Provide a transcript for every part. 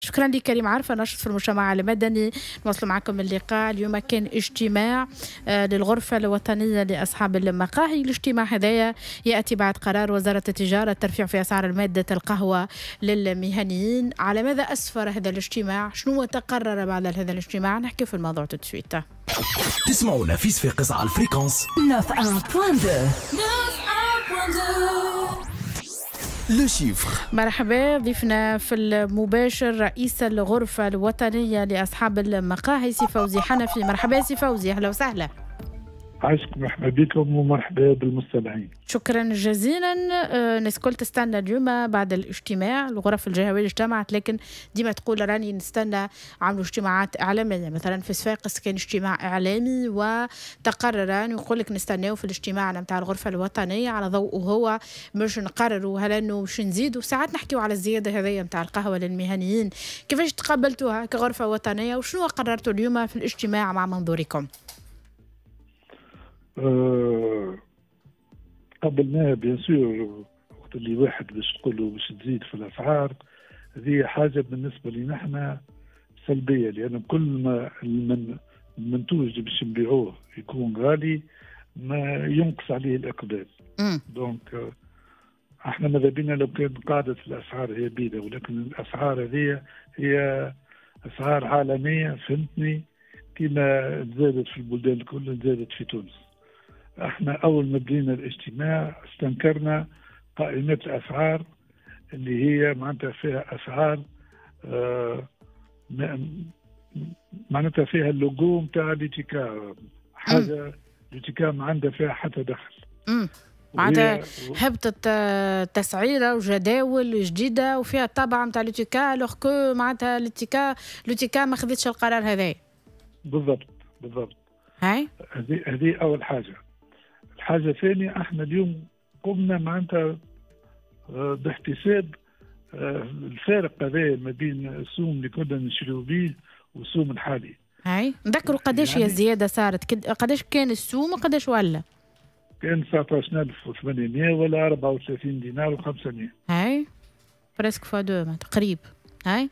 شكرا لك كريم عرفة، ناشط في المجتمع المدني. نواصل معكم اللقاء. اليوم كان اجتماع للغرفة الوطنية لأصحاب المقاهي. الاجتماع هذايا يأتي بعد قرار وزارة التجارة الترفيع في أسعار المادة القهوة للمهنيين. على ماذا أسفر هذا الاجتماع؟ شنو تقرر بعد هذا الاجتماع؟ نحكي في الموضوع tout de suite. تسمعونا في صفاقس على ال fréquence 91.2. Le chiffre. مرحبا، ضيفنا في المباشر رئيس الغرفة الوطنية لأصحاب المقاهي سي فوزي حنفي. مرحبا سي فوزي، أهلا وسهلا. عايشكم، مرحبا بكم ومرحبا بالمستمعين. شكرا جزيلا. الناس الكل تستنى اليوم بعد الاجتماع، الغرف الجهوية اجتمعت، لكن ديما تقول راني نستنى عملوا اجتماعات إعلامية. مثلا في صفاقس كان اجتماع إعلامي وتقرر أن يقول لك نستناو في الاجتماع نتاع الغرفة الوطنية على ضوءه هو باش نقرروا هل انه باش نزيدوا. ساعات نحكيو على الزيادة هذيا نتاع القهوة للمهنيين، كيفاش تقبلتوها كغرفة وطنية وشنو قررتوا اليوم في الاجتماع مع منظوركم؟ قبلناها bien sûr. وقت اللي واحد باش تقول له باش تزيد في الاسعار، هذه حاجة بالنسبة لنا احنا سلبيه، لان كل ما المنتوج اللي باش نبيعوه يكون غالي ما ينقص عليه الاقبال. donc احنا ماذا بينا لو كان قاعدة الاسعار هي بيدة، ولكن الاسعار هذه هي اسعار عالميه، فهمتني، كما تزادت في البلدان الكل تزادت في تونس. احنا اول ما بدينا الاجتماع استنكرنا قائمة الاسعار اللي هي معناتها فيها اسعار معناتها فيها اللوجو نتاع l'UTICA، حاجة l'UTICA ما عندها فيها حتى دخل. معناتها هبطت تسعيره وجداول جديدة وفيها الطابع نتاع l'UTICA، alors que معناتها l'UTICA ما خذتش القرار هذا. بالضبط بالضبط. هاي هذه اول حاجة. الحاجة الثانية، احنا اليوم قمنا معناتها باحتساب الفارق هذا ما بين السوم اللي كنا نشريو به والسوم الحالي. هاي نذكروا قداش هي الزيادة صارت، قداش كان السوم وقداش ولا؟ كان 19800 ولا 34 دينار و500. هاي presque fois deux تقريب. هاي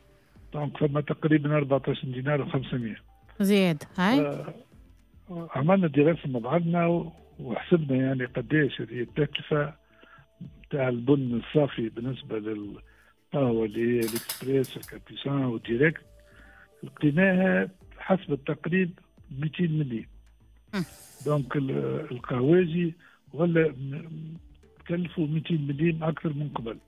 donc فما تقريبا 14 دينار و500 زياد. هاي عملنا دراسة مع بعضنا وحسبنا يعني قداش هذه التكلفة تاع البن الصافي بالنسبة للقهوة اللي هي ال express ال capucin وال direct، لقيناها حسب التقريب 200 مليم. donc القهواجي ولا تكلفوا 200 مليم اكثر من قبل.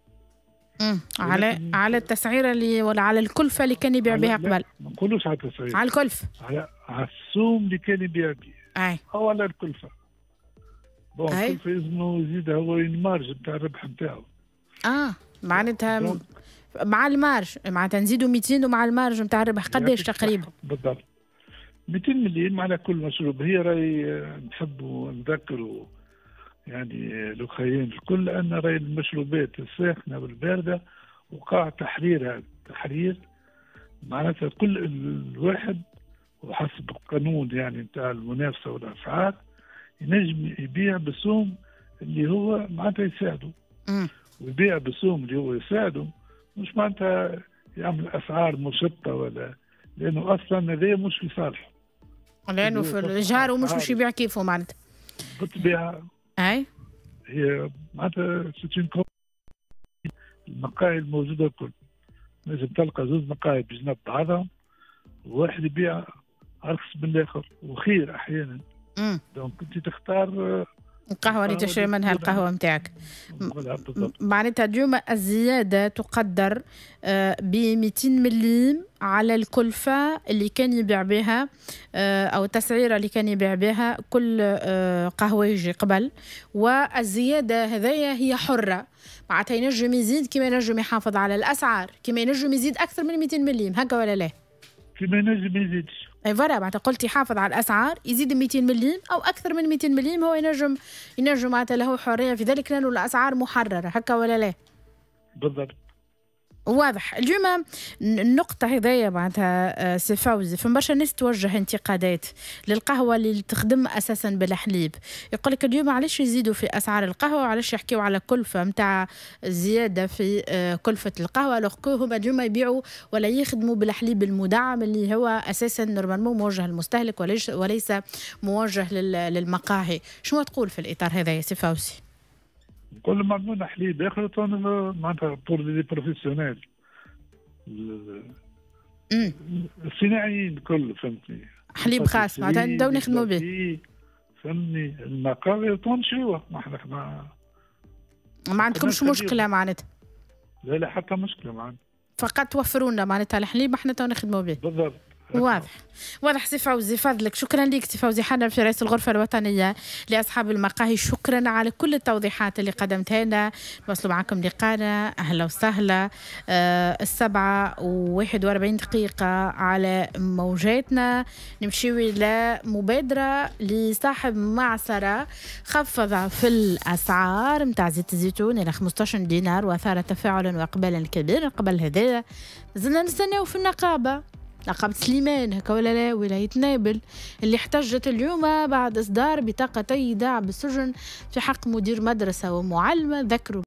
على التسعيره اللي ولا على الكلفة اللي كان يبيع بها قبل؟ ما نقولوش على التسعيره، على الكلفة، على السوم اللي كان يبيع به. اي او على الكلفة. bon الكلفة لازم يزيدها هو ال marge نتاع الربح نتاعو. معناتها مع ال marge، معناتها نزيدوا 200 ومع ال marge نتاع الربح قداش تقريبا؟ بالضبط 200 مليم على كل مشروب. هي راهي نحبوا نذكروا يعني الاخرين الكل ان راهي المشروبات الساخنة والبارده وقع تحريرها، تحرير معناتها كل الواحد وحسب القانون يعني نتاع المنافسة والاسعار ينجم يبيع بالسوم اللي هو معناتها يساعده. ويبيع بالسوم اللي هو يساعده، مش معناتها يعمل اسعار مشطه ولا، لانه اصلا هذا مش في صالحه، لانه في الجار ومش باش يبيع كيفه معناتها. بالطبيعة. اي هي معناتها c'est المقاهي الموجودة الكل، لازم تلقى زوج مقاهي بجنب بعضهم وواحد يبيع ارخص من الاخر وخير احيانا. donc انت تختار القهوة اللي تشري منها القهوة نتاعك. معناتها اليوم الزيادة تقدر ب 200 مليم على الكلفة اللي كان يبيع بها أو التسعيرة اللي كان يبيع بها كل قهويجي قبل، والزيادة هذيا هي حرة، معناتها ينجم يزيد كما ينجم يحافظ على الأسعار، كما ينجم يزيد أكثر من 200 مليم، هكا ولا لا؟ كما ينجم يزيدش. اي voilà، معناتها قلت يحافظ على الاسعار يزيد 200 مليم او اكثر من 200 مليم، هو ينجم معناتها له حرية في ذلك لانه الاسعار محرره، هكا ولا لا؟ بالضبط. واضح. اليوم النقطة هذايا معناتها سي فوزي، فما برشا ناس توجه انتقادات للقهوة اللي تخدم أساسا بالحليب، يقول لك اليوم علاش يزيدوا في أسعار القهوة وعلاش يحكيوا على كلفة نتاع زيادة في كلفة القهوة، alors que هما اليوم يبيعوا ولا يخدموا بالحليب المدعم اللي هو أساسا normalement موجه للمستهلك وليس موجه للمقاهي. شنو تقول في الإطار هذا يا سي فوزي؟ نقول لهم عملونا حليب اخر معناتها pour les professionnels، الصناعيين الكل، فهمتني؟ حليب خاص معناتها نبداو نخدموا به. فهمتني، المقاهي نشريوه ما ما عندكمش مشكلة معناتها؟ لا لا، حتى مشكلة معنا. فقط توفروا لنا معناتها الحليب، احنا تو نخدموا به. بالضبط. واضح واضح سي فوزي، فضلك، شكرا لك سي فوزي حنفي رئيس الغرفة الوطنية لأصحاب المقاهي، شكرا على كل التوضيحات اللي قدمتها لنا. نواصلوا معكم لقانا، أهلا وسهلا. 7:41 على موجاتنا. نمشيو إلى مبادرة لصاحب معصرة خفض في الأسعار متاع زيت الزيتون إلى 15 دينار وأثار تفاعلا وإقبالا كبيرا. قبل هذا زلنا نستناو في النقابة، نقابة سليمان هكا ولا لا، ولاية نابل، اللي احتجت اليوم بعد إصدار بطاقتي إيداع بالسجن في حق مدير مدرسة ومعلمة ذكروا